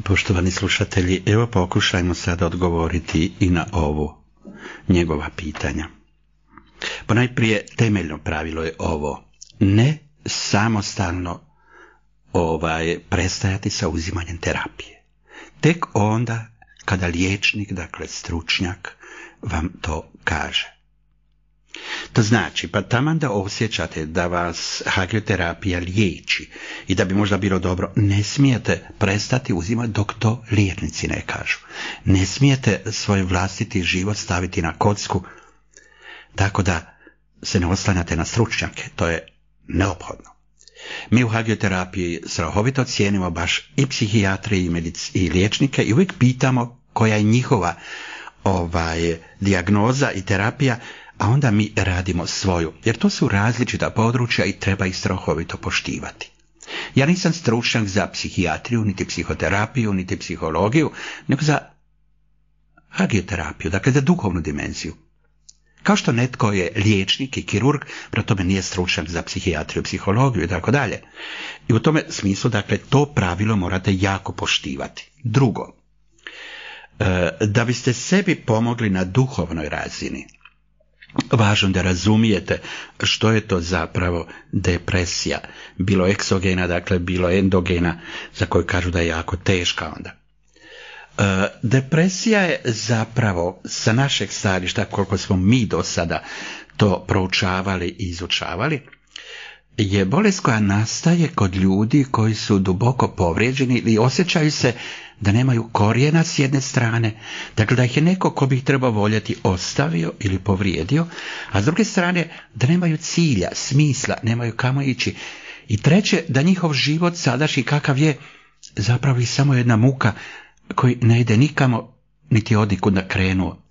Poštovani slušatelji, evo pokušajmo sada odgovoriti i na ovo njegova pitanja. Ponajprije temeljno pravilo je ovo: ne samostalno prestajati sa uzimanjem terapije. Tek onda kada liječnik, dakle stručnjak, vam to kaže. To znači, pa taman da osjećate da vas hagioterapija liječi i da bi možda bilo dobro, ne smijete prestati uzimati dok to liječnici ne kažu. Ne smijete svoj vlastiti život staviti na kocku tako da se ne oslanjate na stručnjake. To je neophodno. Mi u hagioterapiji strahovito cijenimo baš i psihijatrije i liječnike i uvijek pitamo koja je njihova dijagnoza i terapija, a onda mi radimo svoju, jer to su različita područja i treba ih strahovito poštivati. Ja nisam stručnjak za psihijatriju, niti psihoterapiju, niti psihologiju, nego za hagioterapiju, dakle za duhovnu dimenziju. Kao što netko je liječnik i kirurg, prema tome nije stručnjak za psihijatriju, psihologiju i tako dalje. I u tome smislu, dakle, to pravilo morate jako poštivati. Drugo, da biste sebi pomogli na duhovnoj razini, važno da razumijete što je to zapravo depresija, bilo eksogena, dakle bilo endogena, za koju kažu da je jako teška onda. Depresija je zapravo, sa našeg stajališta, koliko smo mi do sada to proučavali i izučavali, je bolest koja nastaje kod ljudi koji su duboko povrijeđeni ili osjećaju se da nemaju korijena s jedne strane, dakle da ih je neko ko bi ih trebao voljeti ostavio ili povrijedio, a s druge strane da nemaju cilja, smisla, nemaju kamo ići. I treće, da njihov život sadašnji kakav je zapravo i samo jedna muka koji ne ide nikamo niti odikud da krenuo.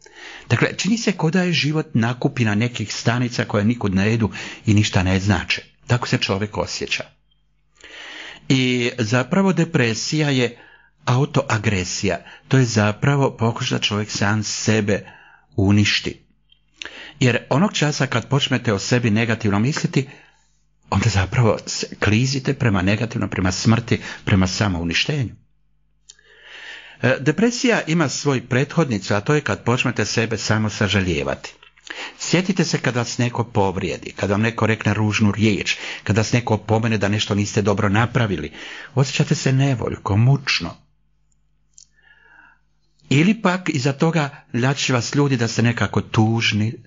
Dakle, čini se kao da je život nakupina nekih stanica koje nikud ne idu i ništa ne znače. Tako se čovjek osjeća. I zapravo depresija je autoagresija. To je zapravo pokušaj da čovjek sam sebe uništi. Jer onog časa kad počnete o sebi negativno misliti, onda zapravo klizite prema negativno, prema smrti, prema samouništenju. Depresija ima svoj prethodnicu, a to je kad počnete sebe samo sažalijevati. Sjetite se kada vas neko povrijedi, kada vam neko rekne ružnu riječ, kada vas neko opomene da nešto niste dobro napravili. Osjećate se nevoljko, mučno. Ili pak iza toga ljači vas ljudi da ste nekako tužni,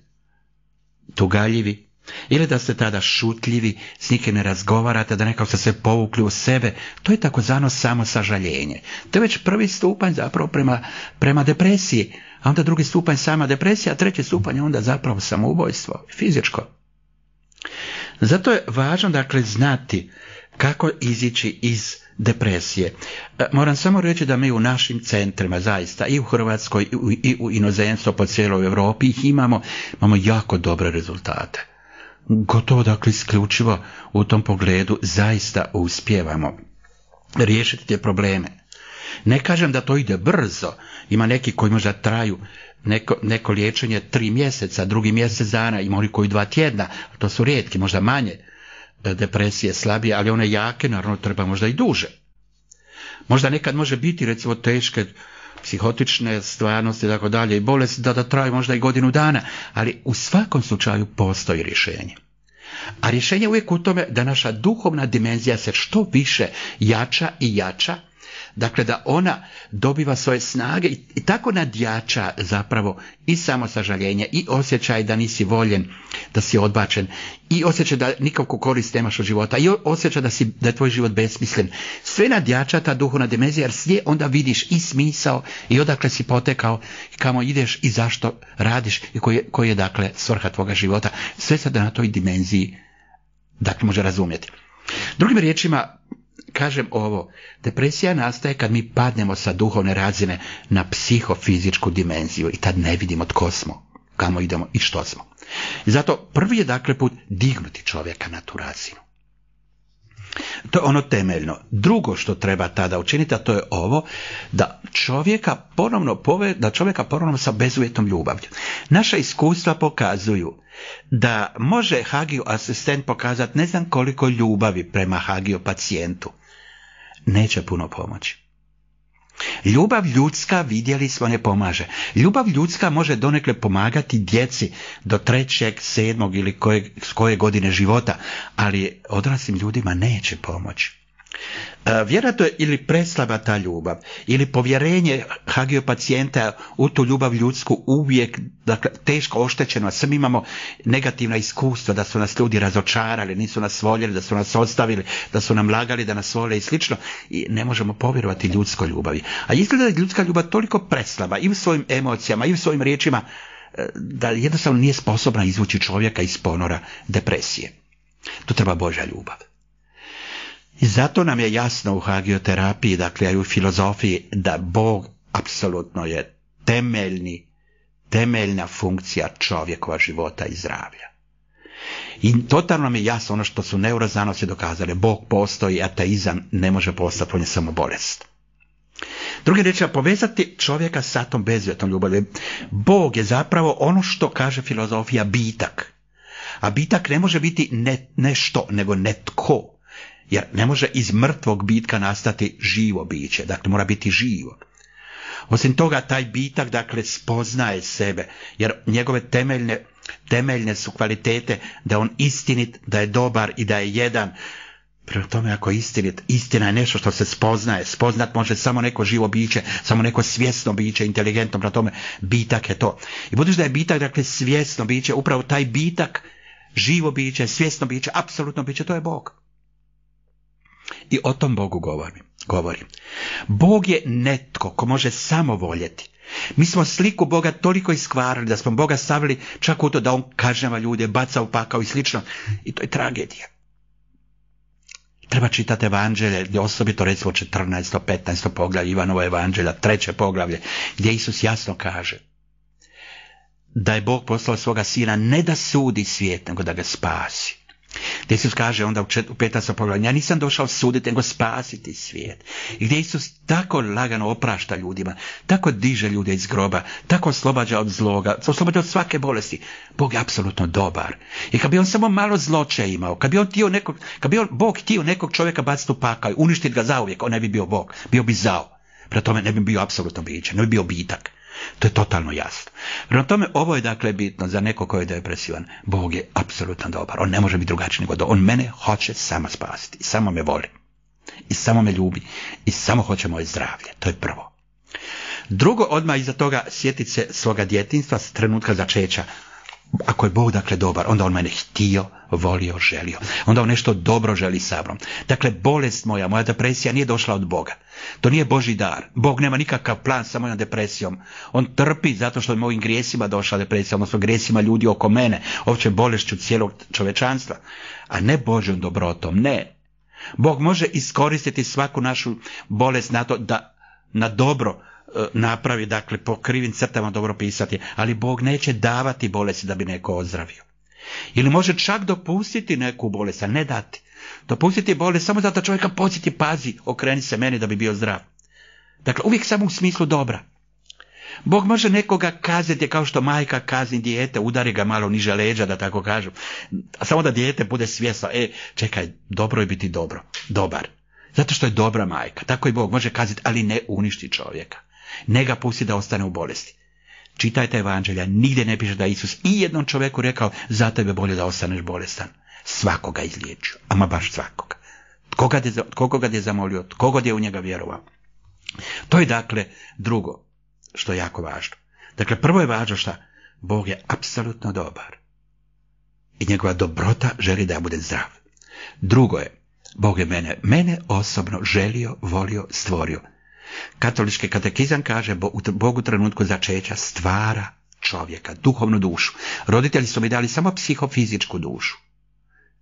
tugaljivi, ili da ste tada šutljivi, s nikim ne razgovarate, da nekako ste se povukli u sebe. To je takozvano samosažaljenje. To je već prvi stupanj zapravo prema depresiji, a onda drugi stupanj sama depresija, a treći stupanj je onda zapravo samoubojstvo, fizičko. Zato je važno, dakle, znati kako izići iz depresije. Moram samo reći da mi u našim centrima, zaista i u Hrvatskoj i u inozemstvu po cijeloj Europi ih imamo jako dobre rezultate. Gotovo, dakle, isključivo u tom pogledu zaista uspijevamo riješiti te probleme. Ne kažem da to ide brzo, ima neki koji možda traju neko liječenje 3 mjeseca, drugi mjesec dana, ima oni koji 2 tjedna, to su rijetki, možda manje depresije, slabije, ali one jake naravno treba možda i duže. Možda nekad može biti recimo teške psihotične stvarnosti i tako dalje i bolesti da traju možda i godinu dana, ali u svakom slučaju postoji rješenje. A rješenje je uvijek u tome da naša duhovna dimenzija se što više jača i jača, dakle da ona dobiva svoje snage i tako nadjača zapravo i samosažaljenje i osjećaj da nisi voljen, da si odbačen, i osjećaj da nikakvu korist nemaš od života, i osjećaj da je tvoj život besmislen. Sve nadjača ta duhovna dimenzija, jer s nje onda vidiš i smisao i odakle si potekao, i kamo ideš i zašto radiš i koji je dakle svrha tvoga života. Sve se da na toj dimenziji dakle može razumjeti. Drugim riječima, kažem ovo, depresija nastaje kad mi padnemo sa duhovne razine na psihofizičku dimenziju i tad ne vidimo tko smo, kamo idemo i što smo. I zato prvi je dakle put dignuti čovjeka na tu razinu. To je ono temeljno. Drugo što treba tada učiniti, a to je ovo, da čovjeka ponovno sa bezuvjetnom ljubavlju. Naša iskustva pokazuju da može hagio asistent pokazati ne znam koliko ljubavi prema hagio pacijentu. Neće puno pomoći. Ljubav ljudska, vidjeli smo, ne pomaže. Ljubav ljudska može donekle pomagati djeci do 3., 7. ili koje godine života, ali odraslim ljudima neće pomoći. Vjerojatno je ili preslaba ta ljubav, ili povjerenje Hagijov pacijenta u tu ljubav ljudsku uvijek, dakle, teško oštećeno, a svi mi imamo negativna iskustva da su nas ljudi razočarali, nisu nas voljeli, da su nas ostavili, da su nam lagali da nas vole i slično, i ne možemo povjerovati ljudskoj ljubavi. A izgleda da je ljudska ljubav toliko preslaba i u svojim emocijama i u svojim riječima da jednostavno nije sposobna izvući čovjeka iz ponora depresije. Tu treba Božja ljubav. I zato nam je jasno u hagioterapiji, dakle i u filozofiji, da Bog apsolutno je temeljna funkcija čovjekova života i zdravlja. I totalno nam je jasno ono što su neuroznanosti dokazali. Bog postoji, ateizam ne može postati, on je samo bolest. Drugi reći, povezati čovjeka sa tom bezuvjetnom ljubavi. Bog je zapravo ono što kaže filozofija bitak. A bitak ne može biti nešto, nego netko. Jer ne može iz mrtvog bitka nastati živo biće, dakle mora biti živo. Osim toga, taj bitak, dakle, spoznaje sebe, jer njegove temeljne su kvalitete da je on istinit, da je dobar i da je jedan. Prema tome, ako je istinit, istina je nešto što se spoznaje. Spoznat može samo neko živo biće, samo neko svjesno biće, inteligentno, prema tome, bitak je to. I budući da je bitak, dakle, svjesno biće, upravo taj bitak, živo biće, svjesno biće, apsolutno biće, to je Bog. I o tom Bogu govorim. Bog je netko ko može samo voljeti. Mi smo sliku Boga toliko iskvarili da smo Boga stavili čak u to da on kažnjava ljude, baca u pakao i slično. I to je tragedija. Treba čitati evanđelje, osobito recimo 14. 15. poglavlje Ivanovo evanđelja, 3. poglavlje, gdje Isus jasno kaže da je Bog poslao svoga sina ne da sudi svijet, nego da ga spasi. Gdje Isus kaže onda u 15. poglavlju, ja nisam došao suditi, nego spasiti svijet. I gdje Isus tako lagano oprašta ljudima, tako diže ljude iz groba, tako oslobađa od zloga, oslobađa od svake bolesti. Bog je apsolutno dobar. I kad bi on samo malo zloče imao, kad bi Bog htio nekog čovjeka baciti u pakao i uništiti ga zauvijek, on ne bi bio Bog, bio bi zao. Prema tome ne bi bio apsolutno biće, ne bi bio bitak. To je totalno jasno. Prema tome, ovo je dakle bitno za neko koji je depresivan. Bog je apsolutno dobar. On ne može biti drugačiji nego to. On mene hoće samo spasiti. I samo me voli. I samo me ljubi. I samo hoće moje zdravlje. To je prvo. Drugo, odmah iza toga sjetiti se svoga djetinjstva s trenutka začeća. Ako je Bog dakle dobar, onda on mene htio, volio, želio. Onda on nešto dobro želi sa mnom. Dakle, bolest moja depresija nije došla od Boga. To nije Božji dar. Bog nema nikakav plan sa mojom depresijom. On trpi zato što je mojim grijesima došla depresija, odnosno grijesima ljudi oko mene, opće bolešću cijelog čovečanstva, a ne Božjom dobrotom, ne. Bog može iskoristiti svaku našu bolest na to da na dobro napravi, dakle po krivim crtama dobro pisati, ali Bog neće davati bolesti da bi neko ozdravio. Ili može čak dopustiti neku bolest, a ne dati. Dopustiti bolest samo zato čovjeka podsjeti, pazi, okreni se meni da bi bio zdrav. Dakle, uvijek samo u smislu dobra. Bog može nekoga kazniti kao što majka kazni dijete, udari ga malo niže leđa, da tako kažem. Samo da dijete bude svjesno, čekaj, dobro je biti dobar. Zato što je dobra majka. Tako i Bog može kazniti, ali ne uništi čovjeka. Ne ga pusti da ostane u bolesti. Čitajte evanđelja, nigdje ne piše da je Isus i jednom čovjeku rekao, za tebe bolje da ostaneš bolestan. Svakoga izliječio, ama baš svakoga. Koga je zamolio, koga je u njega vjerovao. To je dakle drugo što je jako važno. Dakle, prvo je važno što Bog je apsolutno dobar. I njegova dobrota želi da ja budem zdrav. Drugo je, Bog je mene osobno želio, volio, stvorio. Katolički katekizam kaže, Bog u trenutku začeća stvara čovjeka, duhovnu dušu. Roditelji su mi dali samo psihofizičku dušu.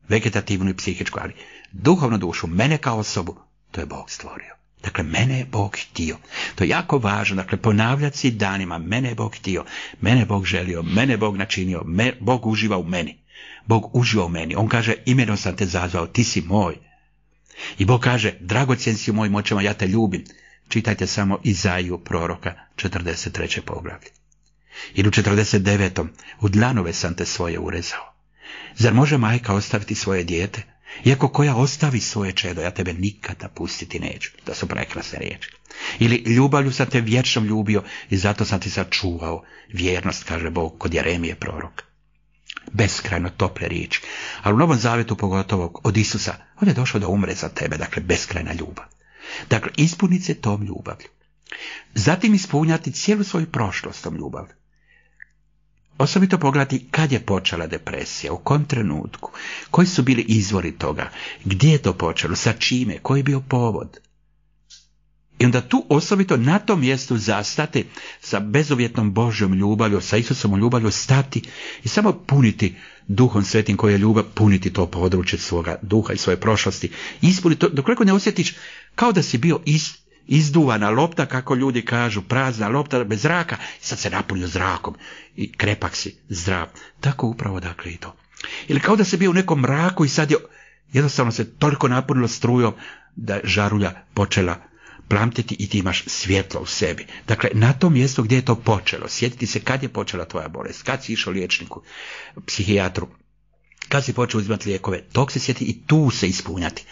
Vegetativnu i psihičku, ali duhovnu dušu, mene kao osobu, to je Bog stvorio. Dakle, mene je Bog htio. To je jako važno, dakle, ponavljati si danima, mene je Bog htio, mene je Bog želio, mene je Bog načinio, Bog uživa u meni. Bog uživa u meni. On kaže, imenom sam te zazvao, ti si moj. I Bog kaže, dragocjen si u mojim očima, ja te ljubim. Čitajte samo Izaiju proroka, 43. poglavlje. Ili u 49. u dlanove sam te svoje urezao. Zar može majka ostaviti svoje dijete? Iako koja ostavi svoje čedo, ja tebe nikada pustiti neću. To su prekrasne riječi. Ili ljubavlju sam te vječno ljubio i zato sam ti sačuvao vjernost, kaže Bog kod Jeremije proroka. Beskrajno tople riječi. Ali u Novom Zavetu, pogotovo od Isusa, on je došao da umre za tebe, dakle beskrajna ljubav. Dakle, ispuniti se tom ljubavlju. Zatim ispunjati cijelu svoju prošlost tom ljubavlju. Osobito pogledati kad je počela depresija, u kom trenutku, koji su bili izvori toga, gdje je to počelo, sa čime, koji je bio povod. I onda tu osobito na tom mjestu zastati sa bezuvjetnom Božjom ljubavlju, sa Isusom ljubavlju stati i samo puniti Duhom Svetim koji je ljubav, puniti to područje svoga duha i svoje prošlosti. Ispuniti to, dokoliko ne osjetiš kao da si bio izduvana lopta, kako ljudi kažu, prazna lopta bez zraka, i sad se napunio zrakom i krepak si, zdrav. Tako upravo dakle i to. Ili kao da si bio u nekom mraku i sad je jednostavno se toliko napunilo strujom da je žarulja počela plamtiti i ti imaš svjetlo u sebi. Dakle, na tom mjestu gdje je to počelo, sjetiti se kad je počela tvoja bolest, kad si išao liječniku, psihijatru, kad si počeo uzimati lijekove, tog se sjeti i tu se ispunjati.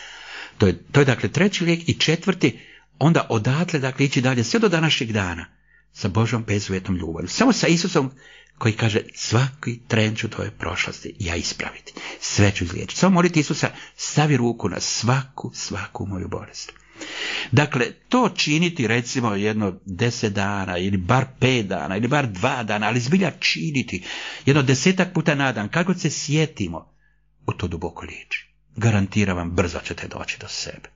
To je dakle treći lijek i četvrti, onda odatle dakle ići dalje sve do današnjeg dana sa Božom bezuvjetnom ljubavlju. Samo sa Isusom koji kaže svaki tren ću tvoje prošlosti ja ispraviti. Sve ću izliječiti. Samo moliti Isusa, stavi ruku na svaku moju bolest. Dakle, to činiti recimo jedno 10 dana ili bar 5 dana ili bar 2 dana, ali zbilja činiti jedno 10 puta na dan, kako se sjetimo, u to duboko liječi. Garantiram vam, brzo ćete doći do sebe.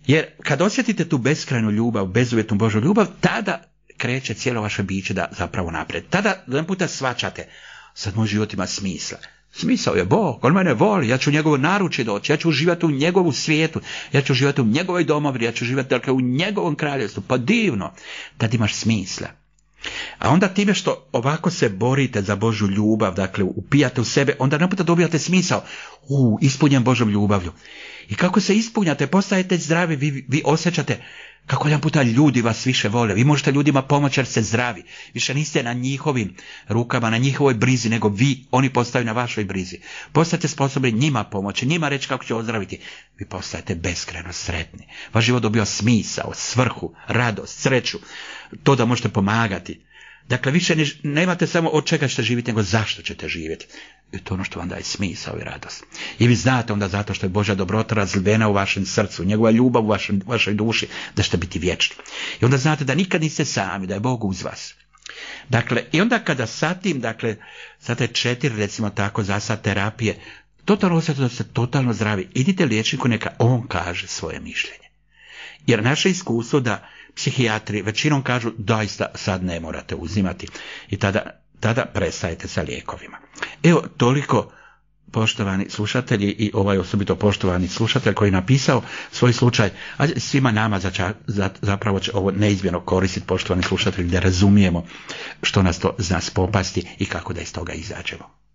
Jer kad osjetite tu beskrajnu ljubav, bezuvjetnu Božju ljubav, tada kreće cijelo vaše biće da zapravo naprijed. Tada jedan puta shvaćate, sad moj život ima smisla. Smisao je Bog, on mene voli, ja ću u njegovo naručje doći, ja ću uživati u njegovu svijetu, ja ću uživati u njegovoj domovini, ja ću uživati dakle, u njegovom kraljevstvu. Pa divno, tad imaš smisla. A onda time što ovako se borite za Božju ljubav, dakle upijate u sebe, onda naputa dobijate smisao. Ispunjen Božom ljubavlju. I kako se ispunjate, postajete zdravi, vi osjećate kako jedan puta ljudi vas više vole. Vi možete ljudima pomoći jer ste zdravi. Više niste na njihovim rukama, na njihovoj brizi, nego oni postaju na vašoj brizi. Postajete sposobni njima pomoći, njima reći kako će ozdraviti. Vi postajete beskrajno sretni. Vaš život dobio smisao, svrhu, radost, sreću. To da možete pomagati. Dakle, više nemate samo od čega ćete živjeti, nego zašto ćete živjeti. I to je ono što vam daje smisao i radost. I vi znate onda zato što je Božja dobrota razlivena u vašem srcu, njegova ljubav u vašoj duši, da ćete biti vječni. I onda znate da nikad niste sami, da je Bog uz vas. Dakle, i onda kada satim, dakle, sad je 4, recimo tako, zasad terapije, totalno osjetite da ste totalno zdravi. Idite liječniku, neka on kaže svoje mišljenje. Jer naše iskustvo da psihijatri većinom kažu doista sad ne morate uzimati i tada prestajete sa lijekovima. Evo toliko, poštovani slušatelji, i ovaj osobito poštovani slušatelj koji je napisao svoj slučaj, a svima nama zapravo će ovo neizmjerno koristiti, poštovani slušatelji, da razumijemo što nas to zna spopasti i kako da iz toga izađemo.